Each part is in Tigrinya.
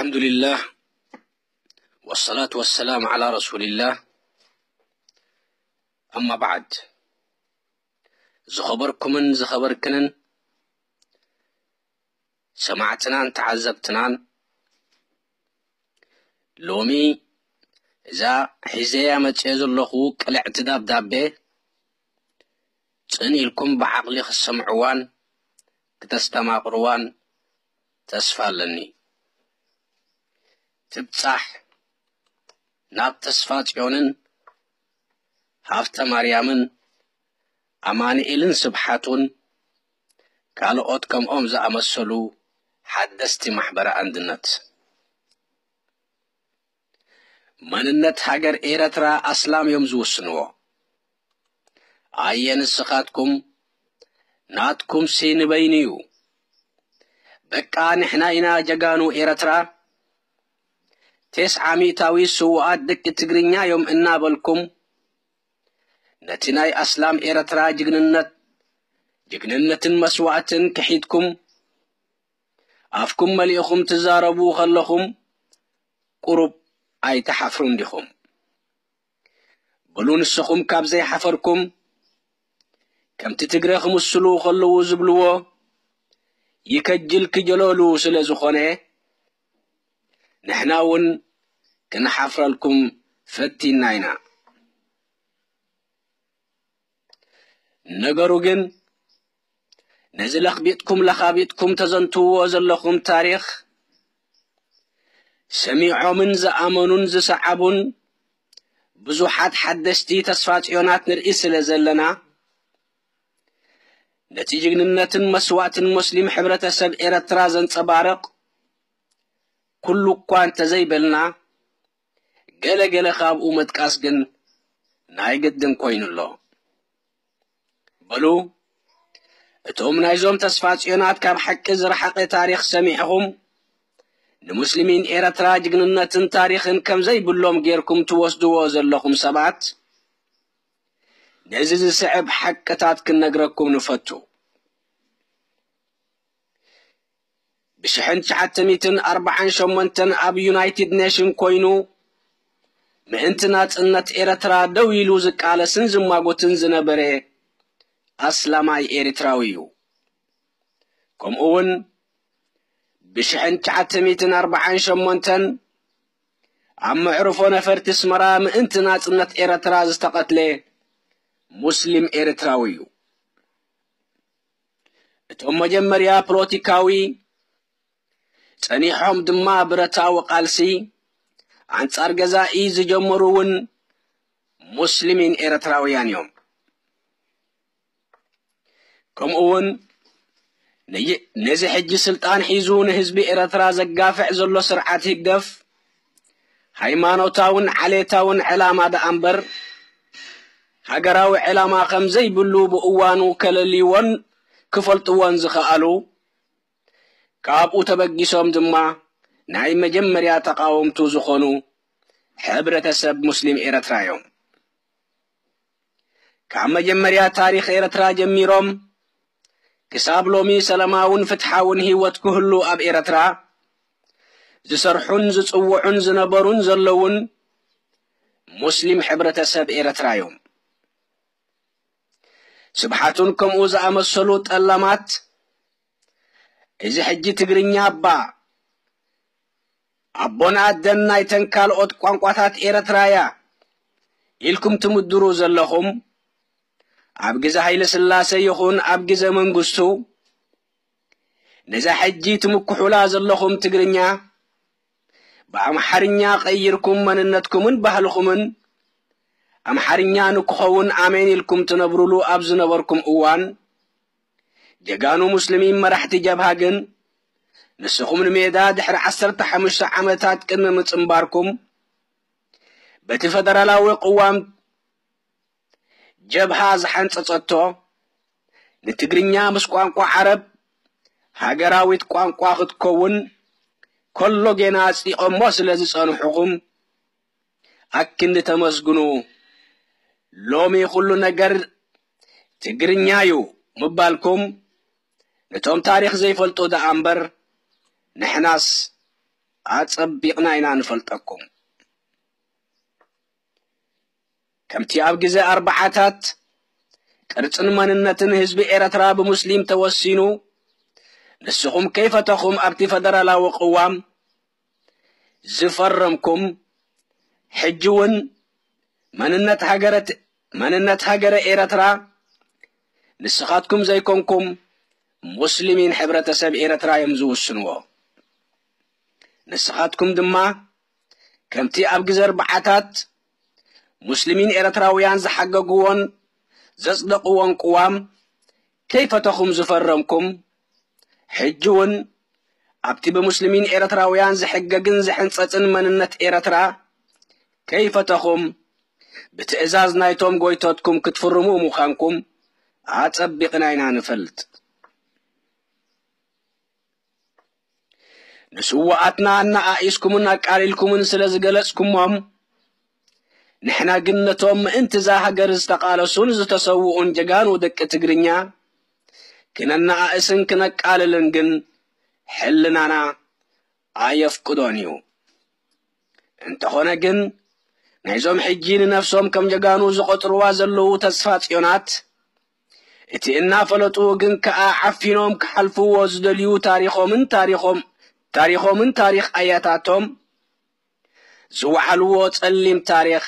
الحمد لله، والصلاة والسلام على رسول الله. أما بعد، ዝኸበርኩምን ዝኸበርክንን ሰማዕትናን ተዓዘብትናን፣ ሎሚ እዛ ሒዘያ መጽየ ዘለኹ ቅልዕቲ ደብዳቤ ጽን ኢልኩም ብዓቕሊ ክትሰምዕዋን ክተስተማቕርዋን ተስፋ ኣለኒ። ትብጻሕ ናብ ተስፋ ጽዮንን ሃብተ ማርያምን ኣማኑኤልን ስብሓቱን ካልኦት ከምኦም ዝኣመሰሉ ሓደስቲ ማሕበረ ኣንድነት። መንነት ሃገር ኤረትራ ኣስላም እዮም ዝውስንዎ። ኣየ ንስኻትኩም፣ ናትኩምሲ ንበይኑ እዩ። በቃ ንሕና ኢና ጀጋኑ ኤረትራ፣ ቴስዓ ሚእታዊ ስዉኣት ደቂ ትግርኛ እዮም እናበልኩም፣ ነቲ ናይ ኣስላም ኤረትራ ጅግንነት፣ ጅግንነትን መስዋእትን ክሒድኩም፣ ኣፍኩም መሊእኹም ትዛረቡ ከለኹም፣ ቁሩብ ኣይትሓፍሩን ዲኹም? በሉ ንስኹም ካብ ዘይሓፈርኩም፣ ከምቲ ትግረ ክምስሉ ከለዉ ዝብልዎ፣ ይከጅል ክጀለሉ ስለ ዝኾነ፣ ንሕና እውን ክንሓፍረልኩም ፈቲና ኢና። ነገሩ ግን፣ ነዚ ለኽቢጥኩም ለኻቢጥኩም ተዘንትውዎ ዘለኹም ታሪኽ፣ ሰሚዖምን ዝኣመኑን ዝሰዓቡን ብዙሓት ሓደስቲ ተስፋ ጽዮናት ንርኢ ስለ ዘለና፣ ነቲ ጅግንነትን መስዋእትን ሙስሊም ሕብረተሰብ ኤረትራ ዘንጸባርቕ ኩሉ እኳ እንተዘይበልና፣ ገለ ገለ ካብኡ ምጥቃስ ግን ናይ ግድን ኮይኑ ኣሎ። በሉ፣ እቶም ናይዞም ተስፋ ጽዮናት ካብ ሓቂ ዝረሓቐ ታሪኽ ሰሚዕኹም፣ ንሙስሊሚን ኤረትራ ጅግንነትን ታሪኽን ከም ዘይብሎም ጌርኩም ትወስድዎ ዘለኹም ሰባት፣ ነዚ ዝስዕብ ሓቅታት ክንነግረኩም ንፈቱ። ብሽሕን ትሽዓተ ሚእትን ኣርባዓን ሸሞንተን ኣብ ዩናይትድ ኔሽን ኮይኑ ምእንቲ ናጽነት ኤረትራ ደው ኢሉ ዝቃለስን ዝማጎትን ዝነበረ ኣስላማይ ኤሪትራዊ እዩ። ከምኡ እውን ብሽሕን ትሽዓተ ሚእትን ኣርባዓን ሸሞንተን ኣብ መዕርፎ ነፈርቲ ኣስመራ ምእንቲ ናጽነት ኤረትራ ዝተቐትለ ሙስሊም ኤሪትራዊ እዩ። እቶም መጀመርያ ፖለቲካዊ ጸኒሖም ድማ ብረታዊ ቃልሲ ኣንጻር ገዛኢ ዝጀመሩ እውን ሙስሊሚን ኤረትራውያን እዮም። ከምኡ እውን ነይ-፣ ነዚ ሕጂ ስልጣን ሒዙ ንህዝቢ ኤረትራ ዘጋፍዕ ዘሎ ስርዓት ህግደፍ ሃይማኖታውን ዓሌታውን ዕላማ ደኣ እምበር ሃገራዊ ዕላማ ከም ዘይብሉ ብእዋኑ ከለልይዎን ክፈልጥዎን ዝኸኣሉ፣ ካብኡ ተበጊሶም ድማ ናይ መጀመርያ ተቓወምቱ ዝኾኑ ሕብረተሰብ ሙስሊም ኤረትራ እዮም። ካብ መጀመርያ ታሪኽ ኤረትራ ጀሚሮም ክሳብ ሎሚ ሰላማውን ፍትሓውን ህይወት ክህሉ ኣብ ኤረትራ ዝሰርሑን ዝጽውዑን ዝነበሩን ዘለውን ሙስሊም ሕብረተሰብ ኤረትራ እዮም። ስብሓቱን ከምኡ ዝኣመሰሉ ጠላማት፣ እዚ ሕጂ ትግርኛ እባ ኣቦን ኣደን ናይተን ካልኦት ቋንቋታት ኤረትራ እያ ኢልኩም ትምድሩ ዘለኹም፣ ኣብ ግዜ ሃይለ ስላሴ ይኹን ኣብ ግዜ መንግስቱ፣ ነዛ ሕጂ ትምክሑላ ዘለኹም ትግርኛ ብኣምሓርኛ ቀይርኩም መንነትኩምን ባህልኹምን ኣምሓርኛ ንክኸውን ኣሜን ኢልኩም ትነብሩሉ ኣብ ዝነበርኩም እዋን፣ ጀጋኑ ሙስሊሚን መራሕቲ ጀብሃ ግን፣ ንስኹም ንሜዳ ድሕሪ ዓሰርተ ሓሙሽተ ዓመታት ቅድሚ ምጽንባርኩም፣ በቲ ፈደራላዊ ቅዋም ጀብሃ ዝሓንጸጸቶ፣ ንትግርኛ ምስ ቋንቋ ዓረብ ሃገራዊት ቋንቋ ክትከውን ከሎ ጌና ኣጽዲቖሞ ስለ ዝጸንሑኹም፣ ኣክንዲ ተመስግኑ። ሎሚ ኩሉ ነገር ትግርኛ እዩ ምባልኩም፣ ነቶም ታሪኽ ዘይፈልጡ ደኣ እምበር፣ ንሕናስ ኣጸቢቕና ኢና ንፈልጠኩም። ከምቲ ኣብ ግዜ ኣርብዓታት ቅርጽን መንነትን ህዝቢ ኤረትራ ብሙስሊም ተወሲኑ፣ ንስኹም ከይፈተኹም ኣብቲ ፈደራላዊ ቅዋም ዝፈረምኩም፣ ሕጂ እውን መንነት ሃገረት-፣ መንነት ሃገረ ኤረትራ ንስኻትኩም ዘይኮንኩም ሙስሊሚን ሕብረተሰብ ኤረትራ እዮም ዝውስንዎ። ንስኻትኩም ድማ ከምቲ ኣብ ግዜ ኣርብዓታት ሙስሊሚን ኤረትራውያን ዝሓገግዎን ዘጽደቕዎን ቅዋም ከይፈተኹም ዝፈረምኩም፣ ሕጂ እውን ኣብቲ ብሙስሊሚን ኤረትራውያን ዝሕገግን ዝሕንጸጽን መንነት ኤረትራ ከይፈተኹም ብትእዛዝ ናይቶም ጎይቶትኩም ክትፍርሙ ምዃንኩም ኣጸቢቕና ኢና ንፈልጥ። ንስውኣትና ኣነኣኢስኩምን ኣቃሊልኩምን ስለ ዝገለጽኩሞም፣ ንሕና ግን ነቶም ምእንቲ እዛ ሃገር ዝተቓለሱን ዝተሰውኡን ጀጋኑ ደቂ ትግርኛ ክነነኣእስን ክነቃልልን ግን ሕልናና ኣየፍቅዶን እዩ። እንተኾነ ግን፣ ናይዞም ሕጂ ንነፍሶም ከም ጀጋኑ ዝቖጽርዋ ዘለዉ ተስፋ ጽዮናት፣ እቲ እናፈለጡ ግን ከኣ ዓፊኖም ክሓልፍዎ ዝደልዩ ታሪኾምን ታሪኾም-፣ ታሪኾምን ታሪኽ ኣያታቶም ዝወዓልዎ ጸሊም ታሪኽ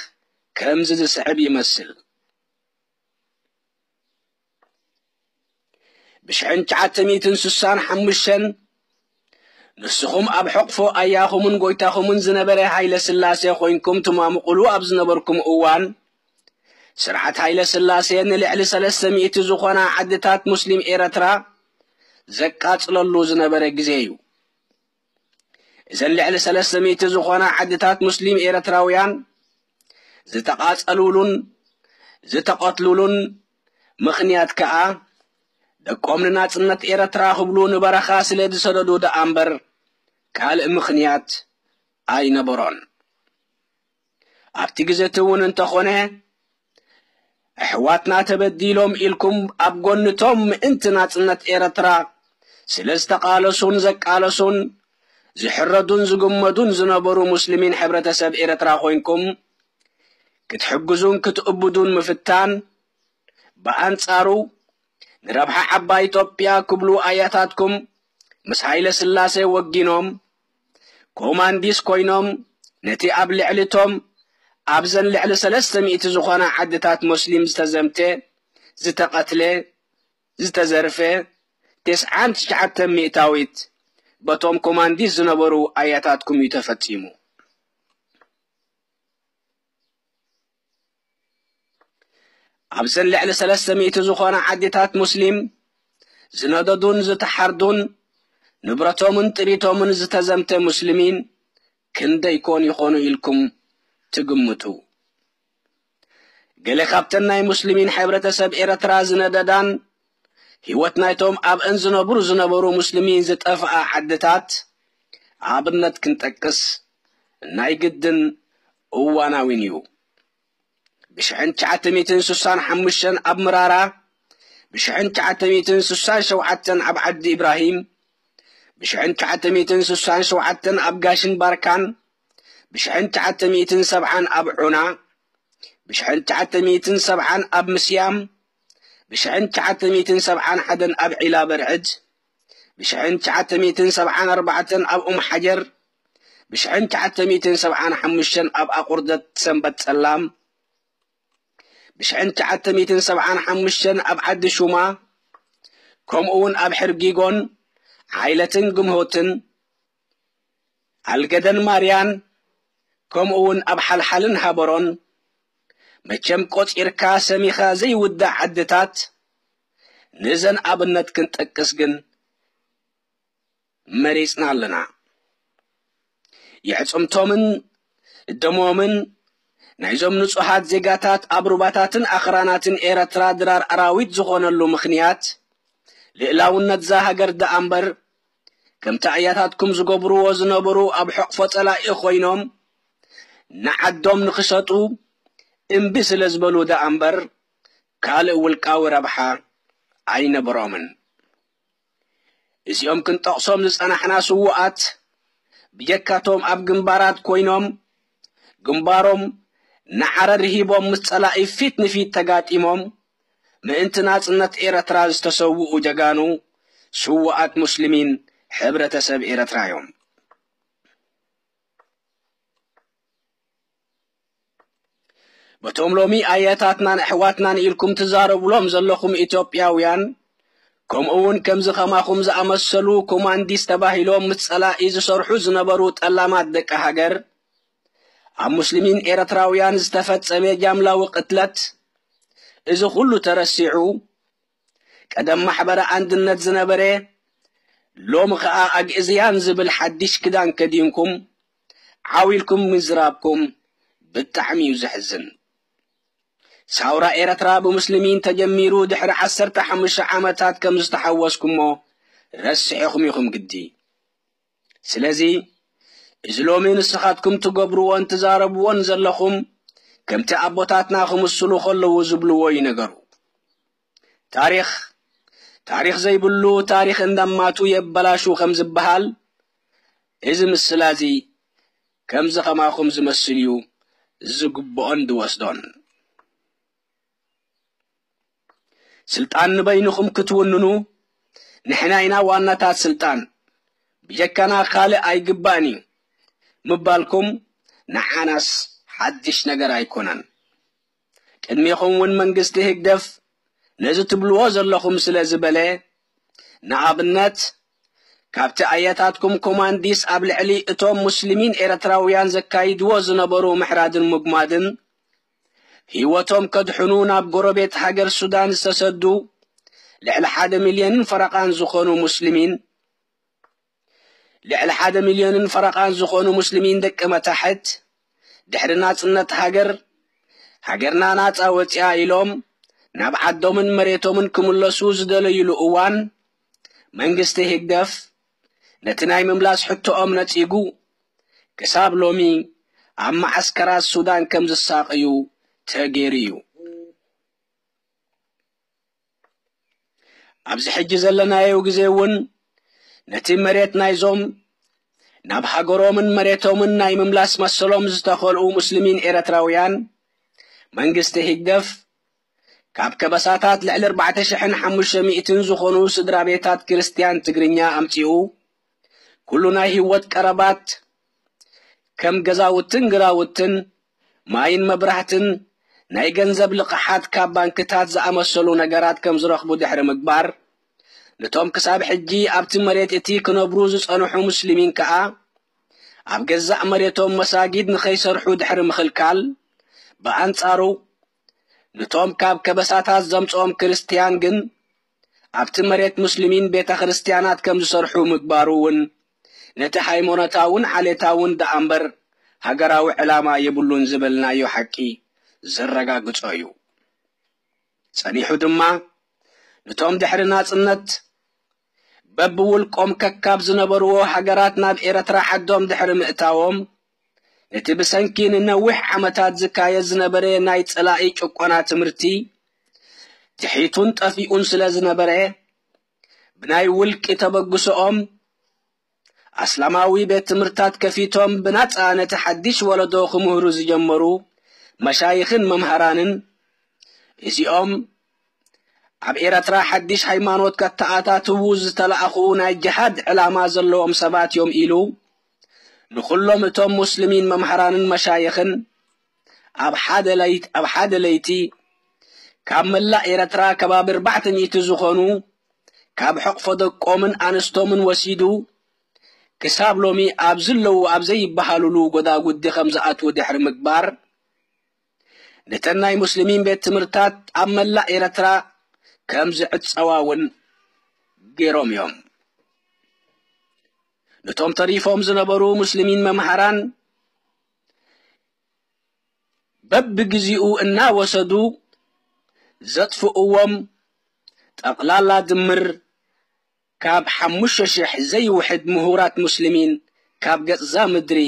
ከምዚ ዝስዕብ ይመስል። ብሽሕን ትሽዓተ ሚእትን ስሳን ሓሙሽተን ንስኹም ኣብ ሕቕፎ ኣያኹምን ጎይታኹምን ዝነበረ ሃይለ ስላሴ ኮይንኩም ትማምቑሉ ኣብ ዝነበርኩም እዋን፣ ስርዓት ሃይለ ስላሴ ንልዕሊ ሰለስተ ሚእቲ ዝኾና ዓድታት ሙስሊም ኤረትራ ዘቃጽለሉ ዝነበረ ግዜ እዩ። እዘን ልዕሊ ሰለስተ ሚእቲ ዝኾና ዓድታት ሙስሊም ኤረትራውያን ዝተቓጸሉሉን ዝተቐትሉሉን ምኽንያት ከኣ፣ ደቆም ንናጽነት ኤረትራ ክብሉ ንበረኻ ስለ ዝሰደዱ ደኣ እምበር፣ ካልእ ምኽንያት ኣይነበሮን። ኣብቲ ግዜ እቲ እውን እንተኾነ፣ ኣሕዋትና ተበዲሎም ኢልኩም ኣብ ጎንቶም ምእንቲ ናጽነት ኤረትራ ስለ ዝተቓለሱን ዘቃለሱን፣ ዝሕረዱን ዝግመዱን ዝነበሩ ሙስሊሚን ሕብረተሰብ ኤረትራ ኮይንኩም ክትሕግዙን ክትእብዱን ምፍታን፣ ብኣንጻሩ ንረብሓ ዓባይ ኢትዮጵያ ክብሉ ኣያታትኩም ምስ ሃይለ ስላሴ ወጊኖም፣ ኮማንዲስ ኮይኖም፣ ነቲ ኣብ ልዕሊ እቶም ኣብዘን ልዕሊ ሰለስተ ሚእቲ ዝኾና ዓድታት ሞስሊም ዝተዘምተ፣ ዝተቐትለ፣ ዝተዘርፈ፣ ተስዓን ትሽዓተን ሚእታዊት በቶም ኮማንዲስ ዝነበሩ ኣያታትኩም እዩ ተፈጺሙ። ኣብዘን ልዕሊ ሰለስተ ሚእቲ ዝኾና ዓድታት ሙስሊም ዝነደዱን ዝተሓርዱን፣ ንብረቶምን ጥሪቶምን ዝተዘምተ ሙስሊሚን ክንደይ ኮን ይኾኑ ኢልኩም ትግምቱ? ገለ ካብተን ናይ ሙስሊሚን ሕብረተሰብ ኤረትራ ዝነደዳን ህይወት ናይቶም ኣብአን ዝነብሩ ዝነበሩ ሙስሊሚን ዝጠፍኣ ዓድታት ኣብነት ክንጠቅስ ናይ ግድን እዋናዊን እዩ። ብሽሕን ትሽዓተ ሚእትን ስሳን ሓሙሽተን ኣብ ምራራ፣ ብሽሕን ትሽዓተ ሚእትን ስሳን ሸውዓተን ኣብ ዓዲ ኢብራሂም፣ ብሽሕን ትሽዓተ ሚእትን ስሳን ሸውዓተን ኣብ ጋሽን ባርካን፣ ብሽሕን ትሽዓተ ሚእትን ሰብዓን ኣብ ዑና፣ ብሽሕን ትሽዓተ ሚእትን ሰብዓን ኣብ ምስያም፣ ብሽሕን ትሽዓተ ሚእትን ሰብዓን ሓደን ኣብ ዒላ በርዕድ፣ ብሽሕን ትሽዓተ ሚእትን ሰብዓን ኣርባዕተን ኣብ ኡም ሓጀር፣ ብሽሕን ትሽዓተ ሚእትን ሰብዓን ሓሙሽተን ኣብ ኣቑርደት ሰንበት ጸላም፣ ብሽሕን ትሽዓተ ሚእትን ሰብዓን ሓሙሽተን ኣብ ዓዲ ሹማ፣ ከምኡ እውን ኣብ ሕርጊጎን፣ ዓይለትን ግምሆትን፣ ኣልገደን ማርያን፣ ከምኡ እውን ኣብ ሓልሓልን ሃበሮን፣ መቸም ቆጺርካ ሰሚኻ ዘይውዳእ ዓድታት፣ ንዘን ኣብነት ክንጠቅስ ግን መሪጽና ኣለና። የዕጽምቶምን ደሞምን ናይዞም ንጹሃት ዜጋታት ኣብ ሩባታትን ኣኽራናትን ኤረትራ ድራር ኣራዊት ዝኾነሉ ምኽንያት፣ ልእላውነት እዛ ሃገር ደኣ እምበር፣ ከምቲ ኣያታትኩም ዝገብርዎ ዝነበሩ ኣብ ሕቕፎ ጸላኢ ኮይኖም ንዓዶም ንኽሸጡ እምቢ ስለ ዝበሉ ደኣ እምበር፣ ካልእ ውልቃዊ ረብሓ ኣይነበሮምን። እዚኦም ክንጠቕሶም ዝጸናሕና ስዉኣት ብጀካቶም ኣብ ግንባራት ኮይኖም ግንባሮም ንዓረር ሂቦም ምስ ጸላኢ ፊት ንፊት ተጋጢሞም ምእንቲ ናጽነት ኤረትራ ዝተሰውኡ ጀጋኑ ስውኣት ሙስሊሚን ሕብረተሰብ ኤረትራ እዮም። በቶም ሎሚ ኣያታትናን ኣሕዋትናን ኢልኩም ትዛረቡሎም ዘለኹም ኢትዮጵያውያን፣ ከምኡ እውን ከምዚ ከማኹም ዝኣመሰሉ ኮማንዲስ ተባሂሎም ምስ ጸላኢ ዝሰርሑ ዝነበሩ ጠላማት ደቂ ሃገር፣ ኣብ ሙስሊሚን ኤረትራውያን ዝተፈጸመ ጃምላዊ ቅትለት፣ እዚ ኩሉ ተረሲዑ፣ ቀደም ማሕበረ ኣንድነት ዝነበረ፣ ሎሚ ኸኣ ኣግእዝያን ዝብል ሓድሽ ክዳን ከዲንኩም ዓው ኢልኩም ምዝራብኩም ብጣዕሚ እዩ ዘሕዝን። ሳውራ ኤረትራ ብሙስሊሚን ተጀሚሩ ድሕሪ ዓሰርተ ሓሙሽተ ዓመታት ከም ዝተሓወስኩሞ ረሲዕኹም ኢኹም ግዲ። ስለዚ እዚ ሎሚ ንስኻትኩም ትገብርዎን ትዛረብዎን ዘለኹም ከምቲ ኣቦታትና ክምስሉ ከለዉ ዝብልዎ እዩ ነገሩ። ታሪኽ፣ ታሪኽ ዘይብሉ ታሪኽ እንዳማቱ የበላሹ ከም ዝበሃል፣ እዚ ምስላ እዚ ከምዚ ከማኹም ዝመስል እዩ ዝግብኦን ዝወስዶን። ስልጣን ንበይንኹም ክትውንኑ፣ ንሕና ኢና ዋናታት ስልጣን፣ ብጀካና ካልእ ኣይግባእን እዩ ምባልኩም ንዓናስ ሓድሽ ነገር ኣይኮነን። ቅድሜኹም እውን መንግስቲ ህግደፍ ነዚ ትብልዎ ዘለኹም ስለ ዝበለ፣ ንኣብነት፣ ካብቲ ኣያታትኩም ኮማንዲስ ኣብ ልዕሊ እቶም ሙስሊሚን ኤርትራውያን ዘካይድዎ ዝነበሩ ምሕራድን ምጉማድን፣ ህይወቶም ከድሕኑ ናብ ጎረቤት ሃገር ሱዳን ዝተሰዱ ልዕሊ ሓደ ሚልዮንን ፈረቓን ዝኾኑ ሙስሊሚን፣ ልዕሊ ሓደ ሚልዮንን ፈረቓን ዝኾኑ ሙስሊሚን ደቂ መታሕት፣ ድሕሪ ናጽነት ሃገር፣ ሃገርና ናጻ ወጺኣ ኢሎም ናብ ዓዶምን መሬቶምን ክምለሱ ዝደለዩሉ እዋን፣ መንግስቲ ህግደፍ ነቲ ናይ ምምላስ ሕቶኦም ነጺጉ፣ ክሳብ ሎሚ ኣብ መዓስከራት ሱዳን ከም ዝሳቐዩ ተገይሩ እዩ። ኣብዚ ሕጂ ዘለናዮ ግዜ እውን ነቲ መሬት ናይዞም ናብ ሃገሮምን መሬቶምን ናይ ምምላስ መሰሎም ዝተኸልኡ ሙስሊሚን ኤርትራውያን፣ መንግስቲ ህግደፍ ካብ ከበሳታት ልዕሊ ኣርባዕተ ሽሕን ሓሙሽተ ሚእትን ዝኾኑ ስድራ ቤታት ክርስትያን ትግርኛ ኣምጺኡ፣ ኩሉ ናይ ህይወት ቀረባት ከም ገዛውትን ግራውትን፣ ማይን መብራህትን፣ ናይ ገንዘብ ልቕሓት ካብ ባንክታት ዝኣመሰሉ ነገራት ከም ዝረኽቡ ድሕሪ ምግባር፣ ነቶም ክሳብ ሕጂ ኣብቲ መሬት እቲ ክነብሩ ዝጸንሑ ሙስሊሚን ከኣ፣ ኣብ ገዛእ መሬቶም መሳጊድ ንኸይሰርሑ ድሕሪ ምኽልካል፣ ብኣንጻሩ፣ ነቶም ካብ ከበሳታት ዘምጽኦም ክርስትያን ግን፣ ኣብቲ መሬት ሙስሊሚን ቤተ ክርስትያናት ከም ዝሰርሑ ምግባሩ እውን፣ ነቲ ሃይማኖታውን ዓሌታውን ደኣ እምበር ሃገራዊ ዕላማ የብሉን ዝበልናዮ ሓቂ ዘረጋግጾ እዩ። ጸኒሑ ድማ፣ ነቶም ድሕሪ ናጽነት በብውልቆም ከካብ ዝነበርዎ ሃገራት ናብ ኤርትራ ዓዶም ድሕሪ ምእታዎም፣ ነቲ ብሰንኪ ንነዊሕ ዓመታት ዝካየድ ዝነበረ ናይ ጸላኢ ጭቆና ትምህርቲ፣ ትሒቱን ጠፊኡን ስለ ዝነበረ፣ ብናይ ውልቂ ተበግሶኦም፣ ኣስላማዊ ቤት ትምህርታት ከፊቶም ብናጻ ነቲ ሓድሽ ወለዶ ክምህሩ ዝጀመሩ መሻይኽን መምሃራንን፣ እዚኦም ኣብ ኤርትራ ሓድሽ ሃይማኖት ከተኣታትዉ ዝተላእኹ ናይ ጅሃድ ዕላማ ዘለዎም ሰባት እዮም ኢሉ፣ ንኹሎም እቶም ሙስሊሚን መምሃራንን መሻይኽን ኣብ ሓደ ለይት-፣ ኣብ ሓደ ለይቲ ካብ መላእ ኤርትራ ከባቢ ኣርባዕተ ሚእቲ ዝኾኑ ካብ ሕቕፎ ደቆምን ኣንስቶምን ወሲዱ፣ ክሳብ ሎሚ ኣብ ዝለዉ ኣብ ዘይበሃሉሉ ጎዳጉዲ ከም ዝኣትዉ ድሕሪ ምግባር፣ ነተን ናይ ሙስሊሚን ቤት ትምህርታት ኣብ መላእ ኤርትራ ከም ዝዕጸዋ እውን ገይሮም እዮም። ነቶም ተሪፎም ዝነበሩ ሙስሊሚን መምሃራን በብግዜኡ እናወሰዱ ዘጥፍእዎም ጠቕላላ ድምር ካብ ሓሙሽተ ሽሕ ዘይውሕድ ምሁራት ሙስሊሚን ካብ ገጽዛ ምድሪ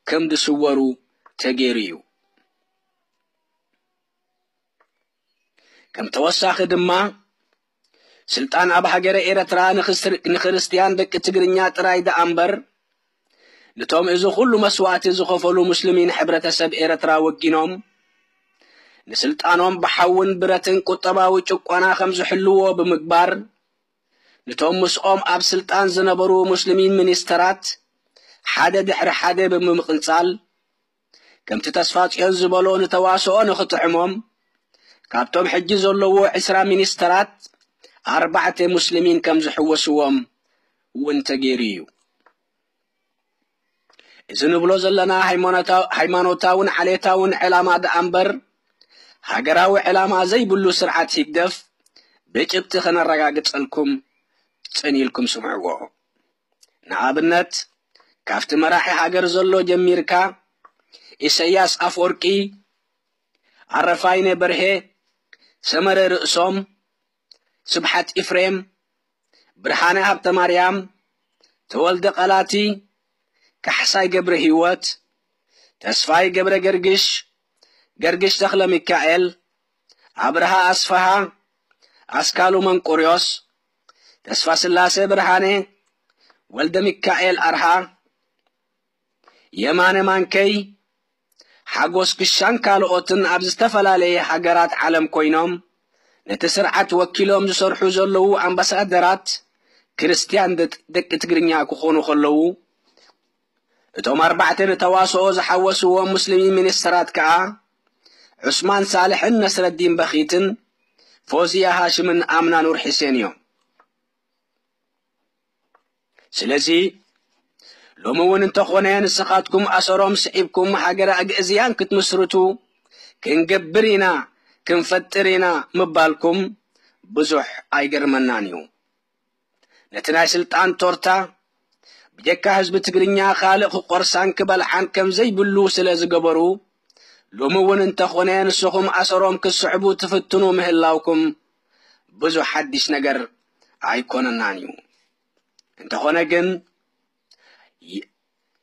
ከም ዝስወሩ ተገይሩ እዩ። ከም ተወሳኺ ድማ፣ ስልጣን ኣብ ሃገረ ኤርትራ ንክስር-፣ ንክርስትያን ደቂ ትግርኛ ጥራይ ደኣ እምበር፣ ነቶም እዚ ኩሉ መስዋእቲ ዝኸፈሉ ሙስሊሚን ሕብረተሰብ ኤርትራ ወጊኖም ንስልጣኖም ብሓውን ብረትን ቁጠባዊ ጭቆና ከም ዝሕልዎ ብምግባር፣ ነቶም ምስኦም ኣብ ስልጣን ዝነበሩ ሙስሊሚን ሚኒስተራት ሓደ ድሕሪ ሓደ ብምምቕንጻል፣ ከምቲ ተስፋጽዮን ዝበሎ ንተዋስኦ ንኽጥዕሞም፣ ካብቶም ሕጂ ዘለዉ ዕስራ ሚኒስተራት ኣርባዕተ ሙስሊሚን ከም ዝሕወስዎም እውን ተገይሩ እዩ። እዚ ንብሎ ዘለና ሃይማኖታው-፣ ሃይማኖታውን ዓሌታውን ዕላማ ደኣ እምበር፣ ሃገራዊ ዕላማ ዘይብሉ ስርዓት ህግደፍ ብጭብጢ ከነረጋግጸልኩም ጽን ኢልኩም ስምዕዎ። ንኣብነት፣ ካብቲ መራሒ ሃገር ዘሎ ጀሚርካ፣ ኢሰያስ ኣፍወርቂ፣ ኣረፋይነ በርሄ፣ ሰመረ ርእሶም፣ ስብሓት ኢፍሬም፣ ብርሃነ ሃብተማርያም፣ ተወልደ ቀላቲ፣ ካሕሳይ ገብረ ህይወት፣ ተስፋይ ገብረ ገርግሽ፣ ገርግሽ ተኽለ ሚካኤል፣ ኣብርሃ ኣስፍሃ፣ ኣስካሉ መንቆርዮስ፣ ተስፋ ስላሴ ብርሃነ፣ ወልደ ሚካኤል ኣርሃ፣ የማነ ማንከይ፣ ሓጎስ ክሻን ካልኦትን ኣብ ዝተፈላለየ ሃገራት ዓለም ኮይኖም ነቲ ስርዓት ወኪሎም ዝሰርሑ ዘለዉ ኣምባሳደራት ክርስትያን ደጥ-፣ ደቂ ትግርኛ ክኾኑ ከለዉ፣ እቶም ኣርባዕተ ንተዋስኦ ዝሓወስዎም ሙስሊሚን ሚኒስተራት ከኣ ዑስማን ሳልሕን ነስረዲን በኺትን ፎዝያ ሃሽምን ኣምና ኑር ሒሴን እዮም። ስለዚ ሎሚ እውን እንተኾነ ንስኻትኩም ኣሰሮም ስዒብኩም ሃገረ ኣግእዝያን ክትምስርቱ ክንገብር ኢና፣ ክንፈጥር ኢና ምባልኩም ብዙሕ ኣይገርመናን እዩ። ነቲ ናይ ስልጣን ቶርታ ብጀካ ህዝቢ ትግርኛ ካልእ ክቆርሳን ክበልዓን ከም ዘይብሉ ስለ ዝገበሩ፣ ሎሚ እውን እንተኾነ ንስኹም ኣሰሮም ክትስዕቡ ትፍትኑ ምህላውኩም ብዙሕ ሓድሽ ነገር ኣይኮነናን እዩ። እንተኾነ ግን ይ-፣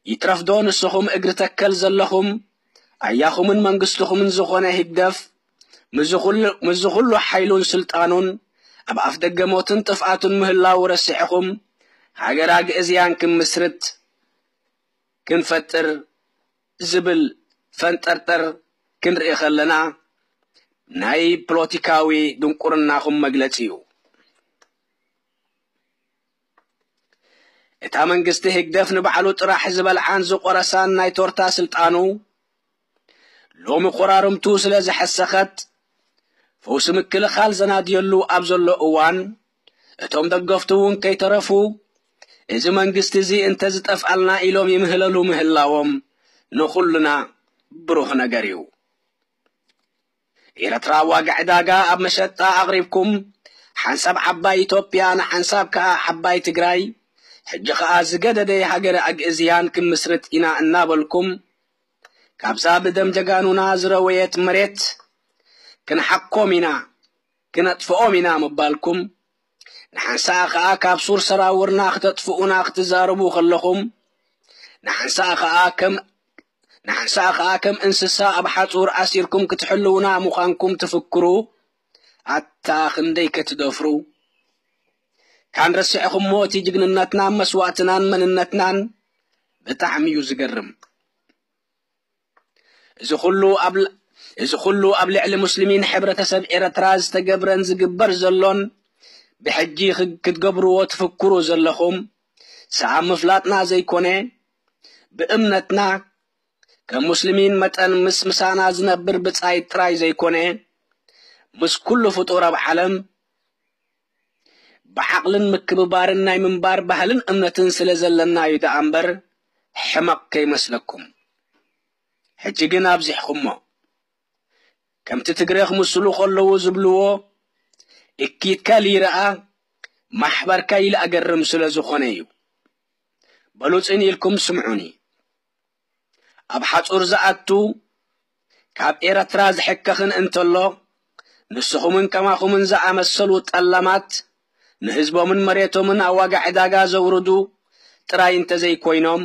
ይትረፍዶ ንስኹም እግሪ ተከል ዘለኹም ኣያኹምን መንግስትኹምን ዝኾነ ህግደፍ ምስዚ ኩሉ፣ ምስዚ ኩሉ ሓይሉን ስልጣኑን ኣብ ኣፍ ደገ ሞትን ጥፍኣቱን ምህላው ረሲዕኹም ሃገር ኣግእዝያን ክምስርት ክንፈጥር ዝብል ፈንጠርጠር ክንርኢ ከለና ናይ ፖለቲካዊ ድንቁርናኹም መግለጺ እዩ። እታ መንግስቲ ህግደፍ ንባዕሉ ጥራሕ ዝበልዓን ዝቆረሳን ናይ ቶርታ ስልጣኑ ሎሚ ቆራርምቱ ስለ ዝሐሰኸት ፈውሲ ምክልኻል ዘናድየሉ ኣብ ዘሎ እዋን እቶም ደገፍቱ እውን ከይተረፉ እዚ መንግስቲ እዚ እንተዝጠፍኣልና ኢሎም ይምህለሉ ምህላዎም ንኹልና ብሩህ ነገር እዩ። ኤርትራ ዋጋ ዕዳጋ ኣብ መሸጣ ኣቕሪብኩም፣ ሓንሳብ ዓባይ ኢትዮጵያ ንሓንሳብ ከኣ ዓባይ ትግራይ፣ ሕጂ ከኣ ዝገደደ ሃገረ ኣግእዝያን ክምስርት ኢና እናበልኩም፣ ካብዛ ብደም ጀጋኑና ዝረወየት መሬት ክንሓኮም ኢና፣ ክነጥፍኦም ኢና ምባልኩም፣ ንሓንሳእ ከኣ ካብ ሱር ሰራውርና ክተጥፍኡና ክትዛረቡ ከለኹም፣ ንሓንሳእ ከኣ ከም፣ ንሓንሳእ ከኣ ከም እንስሳ ኣብ ሓጹር ኣሲርኩም ክትሕልዉና ምዃንኩም ትፍክሩ፣ ኣታ ክንደይ ከትደፍሩ። ካን ረሲዕኹሞ እቲ ጅግንነትናን መስዋእትናን መንነትናን። ብጣዕሚ እዩ ዝገርም። እዚ ኩሉ ኣብ ል-፣ እዚ ኩሉ ኣብ ልዕሊ ሙስሊሚን ሕብረተሰብ ኤርትራ ዝተገብረን ዝግበር ዘሎን ብሕጂ ክ-፣ ክትገብርዎ ትፍክሩ ዘለኹም ሰኣብ ምፍላጥና ዘይኮነ፣ ብእምነትና ከም ሙስሊሚን መጠን ምስ ምሳና ዝነብር ብጻይ ጥራይ ዘይኮነ፣ ምስ ኩሉ ፍጡር ኣብ ዓለም ብዓቕልን ምክብባርን ናይ ምንባር ባህልን እምነትን ስለ ዘለና እዩ ደኣ እምበር፣ ሕመቕ ከይመስለኩም። ሕጂ ግን ኣብዚሕኹሞ። ከምቲ ትግረ ክምስሉ ከለዉ ዝብልዎ፣ እኪትካ ልይረኣ፣ ማሕበርካ ኢሉ ኣገርም ስለ ዝኾነ እዩ። በሉ ጽን ኢልኩም ስምዑኒ። ኣብ ሓጹር ዝኣቱ፣ ካብ ኤርትራ ዝሕከኽን እንተሎ፣ ንስኹምን ከማኹምን ዝኣመሰሉ ጠላማት፣ ንህዝቦምን መሬቶምን ኣብ ዋጋ ዕዳጋ ዘውርዱ ጥራይ እንተዘይኮይኖም፣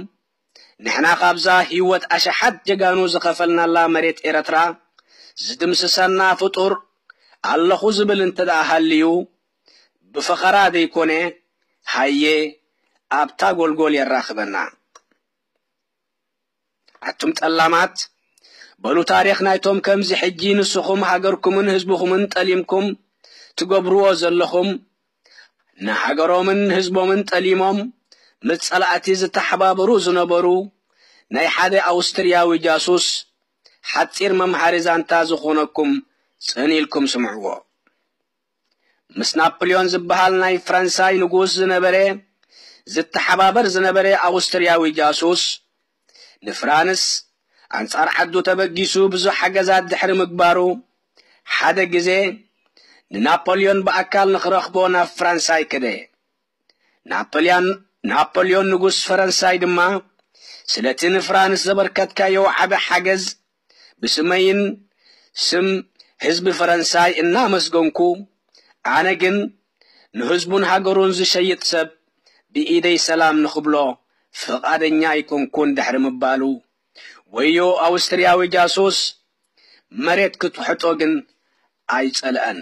ንሕና ካብዛ ህይወት ኣሽሓት ጀጋኑ ዝኸፈልናላ መሬት ኤርትራ ዝድምስሰና ፍጡር ኣለኹ ዝብል እንተ ደኣ ሃልዩ፣ ብፈኸራ ዘይኮነ፣ ሃየ ኣብታ ጎልጎል የራኽበና። ኣቱም ጠላማት፣ በሉ ታሪኽ ናይቶም ከምዚ ሕጂ ንስኹም ሃገርኩምን ህዝብኹምን ጠሊምኩም ትገብርዎ ዘለኹም፣ ንሃገሮምን ህዝቦምን ጠሊሞም ምስ ጸላእቲ ዝተሓባበሩ ዝነበሩ ናይ ሓደ ኣውስትርያዊ ጃሱስ ሓጺር መምሃሪ ዛንታ ዝኾነኩም ጽን ኢልኩም ስምዕዎ። ምስ ናፖልዮን ዝበሃል ናይ ፈረንሳይ ንጉስ ዝነበረ ዝተሓባበር ዝነበረ ኣውስትርያዊ ጃሱስ ንፍራንስ ኣንጻር ዓዱ ተበጊሱ ብዙሕ ሓገዛት ድሕሪ ምግባሩ ሓደ ግዜ ንናፖልዮን ብኣካል ንኽረኽቦ ናብ ፈረንሳይ ከደ። ናፖልያን ናፖልዮን ንጉስ ፈረንሳይ ድማ ስለቲ ንፍራንስ ዘበርከትካዮ ዓቢ ሓገዝ ብስመይን ስም ህዝቢ ፈረንሳይ እናመስገንኩ፣ ኣነ ግን ንህዝቡን ሃገሩን ዝሸይጥ ሰብ ብኢደይ ሰላም ንኽብሎ ፍቓደኛ ኣይኮንኩን ድሕሪ ምባሉ፣ ወዮ ኣውስትርያዊ ጃሱስ መሬት ክትውሕጦ ግን ኣይጸልአን።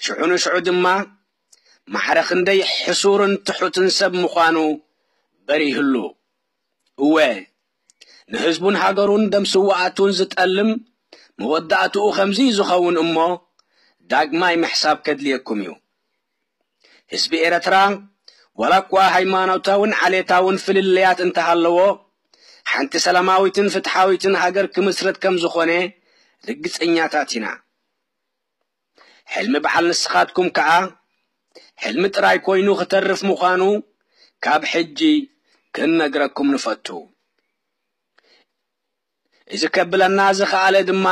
ሽዑ ንሽዑ ድማ ማዕረ ክንደይ ሕሱርን ትሑትን ሰብ ምዃኑ በሪህሉ። እወ፣ ንህዝቡን ሃገሩን ደም ስውኣቱን ዝጠልም መወዳእትኡ ከምዚ ዝኸውን እሞ ዳግማይ ምሕሳብ ከድልየኩም እዩ። ህዝቢ ኤረትራ ዋላ እኳ ሃይማኖታውን ዓሌታውን ፍልልያት እንተሃለዎ፣ ሓንቲ ሰላማዊትን ፍትሓዊትን ሃገር ክምስረት ከም ዝኾነ ርግጸኛታት ኢና። ሕልሚ በዓል ንስኻትኩም ከኣ ሕልሚ ጥራይ ኮይኑ ክተርፍ ምዃኑ ካብ ሕጂ ክንነግረኩም ንፈቱ። እዚ ከብለና ዝኸኣለ ድማ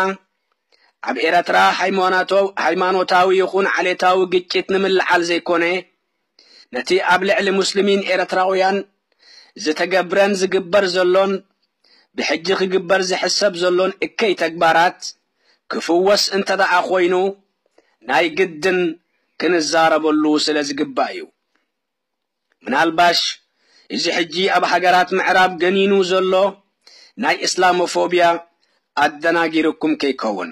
ኣብ ኤረትራ ሃይማኖቶ-፣ ሃይማኖታዊ ይኹን ዓሌታዊ ግጭት ንምልዓል ዘይኮነ፣ ነቲ ኣብ ልዕሊ ሙስሊሚን ኤረትራውያን ዝተገብረን ዝግበር ዘሎን ብሕጂ ክግበር ዝሕሰብ ዘሎን እከይ ተግባራት ክፍወስ እንተ ደኣ ኮይኑ ናይ ግድን ክንዛረበሉ ስለ ዝግባእ እዩ። ምናልባሽ እዚ ሕጂ ኣብ ሃገራት ምዕራብ ገኒኑ ዘሎ ናይ እስላሞፎብያ ኣደናጊርኩም ከይከውን።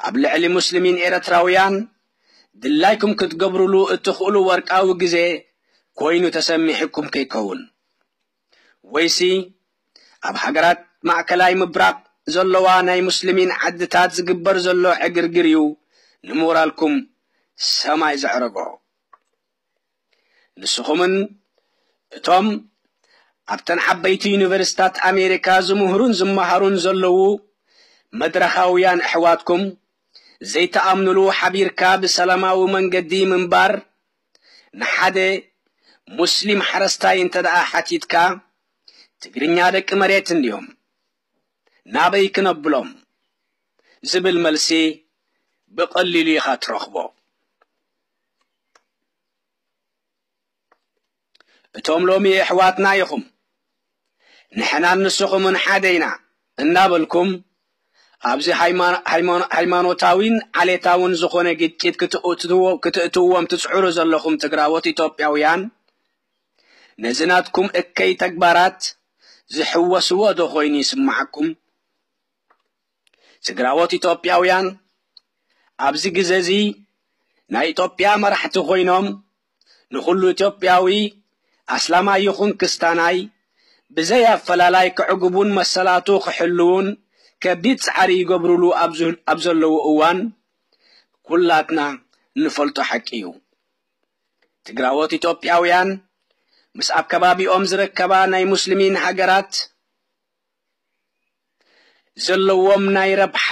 ኣብ ልዕሊ ሙስሊሚን ኤረትራውያን ድላይኩም ክትገብሩሉ እትኽእሉ ወርቃዊ ግዜ ኮይኑ ተሰሚዕኩም ከይከውን። ወይሲ ኣብ ሃገራት ማእከላይ ምብራቕ ዘለዋ ናይ ሙስሊሚን ዓድታት ዝግበር ዘሎ ዕግርግር እዩ ንሞራልኩም ሰማይ ዘዕረጎ። ንስኹምን እቶም ኣብተን ዓበይቲ ዩኒቨርሲታት ኣሜሪካ ዝምህሩን ዝመሃሩን ዘለዉ መድረኻውያን ኣሕዋትኩም ዘይተኣምኑሉ ሓቢርካ ብሰላማዊ መንገዲ ምንባር ንሓደ ሙስሊም ሓረስታይ እንተ ደኣ ሓቲትካ፣ "ትግርኛ ደቂ መሬት እንድዮም፣ ናበይ ክነብሎም?" ዝብል መልሲ ብቐሊሉ ኢኻ ትረኽቦ። እቶም ሎሚ ኣሕዋትና ኢኹም፣ ንሕናን ንስኹምን ሓደ ኢና እናበልኩም፣ ኣብዚ ሃይማ-፣ ሃይማኖ-፣ ሃይማኖታዊን ዓሌታውን ዝኾነ ግጭት ክትእትዎ-፣ ክትእትዎም ትጽዕሩ ዘለኹም ትግራዎት ኢትዮጵያውያን፣ ነዚ ናትኩም እከይ ተግባራት ዝሕወስዎ ዶ ኮይኑ ይስምዓኩም? ትግራዎት ኢትዮጵያውያን ኣብዚ ግዜ እዚ ናይ ኢትዮጵያ መራሕቲ ኮይኖም፣ ንኹሉ ኢትዮጵያዊ ኣስላማይ ይኹን ክስታናይ ብዘይ ኣፈላላይ ክዕግቡን መሰላቱ ክሕልውን ከቢድ ጻዕሪ ይገብሩሉ ኣብ ዝ-፣ ኣብ ዘለዉ እዋን፣ ኩላትና ንፈልጦ ሓቂ እዩ። ትግራዎት ኢትዮጵያውያን ምስ ኣብ ከባቢኦም ዝርከባ ናይ ሙስሊሚን ሃገራት ዘለዎም ናይ ረብሓ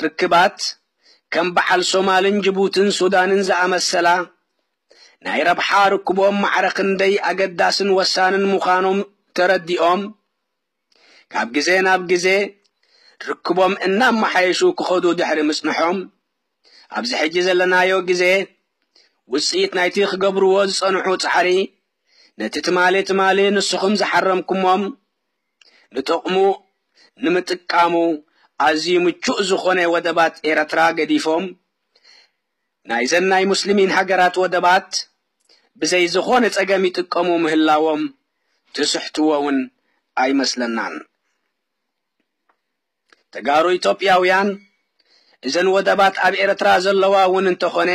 ርክባት፣ ከም በዓል ሶማልን ጅቡትን ሱዳንን ዝኣመሰላ፣ ናይ ረብሓ ርክቦም ማዕረ ክንደይ ኣገዳስን ወሳንን ምዃኖም ተረዲኦም፣ ካብ ግዜ ናብ ግዜ ርክቦም እናመሓየሹ ክኸዱ ድሕሪ ምጽንሖም፣ ኣብዚ ሕጂ ዘለናዮ ግዜ ውጽኢት ናይቲ ክገብርዎ ዝጸንሑ ጻዕሪ፣ ነቲ ትማሊ ትማሊ ንስኹም ዝሓረምኩሞም፣ ንጥቕሙ ንምጥቃሙ ኣዝዩ ምቹእ ዝኾነ ወደባት ኤረትራ ገዲፎም፣ ናይዘን ናይ ሙስሊሚን ሃገራት ወደባት ብዘይ ዝኾነ ጸገም ይጥቀሙ ምህላዎም ትስሕትዎ እውን ኣይመስለናን። ተጋሩ ኢትዮጵያውያን እዘን ወደባት ኣብ ኤረትራ ዘለዋ እውን እንተኾነ፣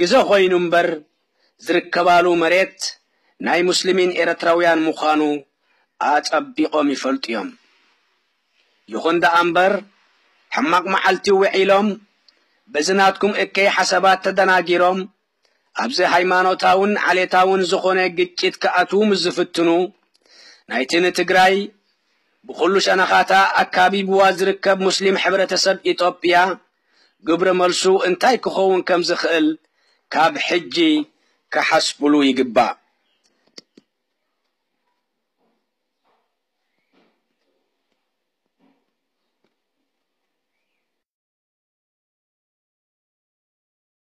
ግዘ ኮይኑ እምበር ዝርከባሉ መሬት ናይ ሙስሊሚን ኤረትራውያን ምዃኑ ኣጸቢቖም ይፈልጡ እዮም። ይኹን ደኣ እምበር፣ ሕማቕ መዓልቲ ውዒሎም፣ በዚ ናትኩም እከይ ሓሳባት ተደናጊሮም፣ ኣብዚ ሃይማኖታውን ዓሌታውን ዝኾነ ግጭት ክኣትዉ ምስ ዝፍትኑ፣ ናይቲ ንትግራይ ብኹሉ ሸነኻታ ኣካቢብዋ ዝርከብ ሙስሊም ሕብረተሰብ ኢትዮጵያ ግብረ መልሱ እንታይ ክኸውን ከም ዝኽእል ካብ ሕጂ ክሓስብሉ ይግባእ።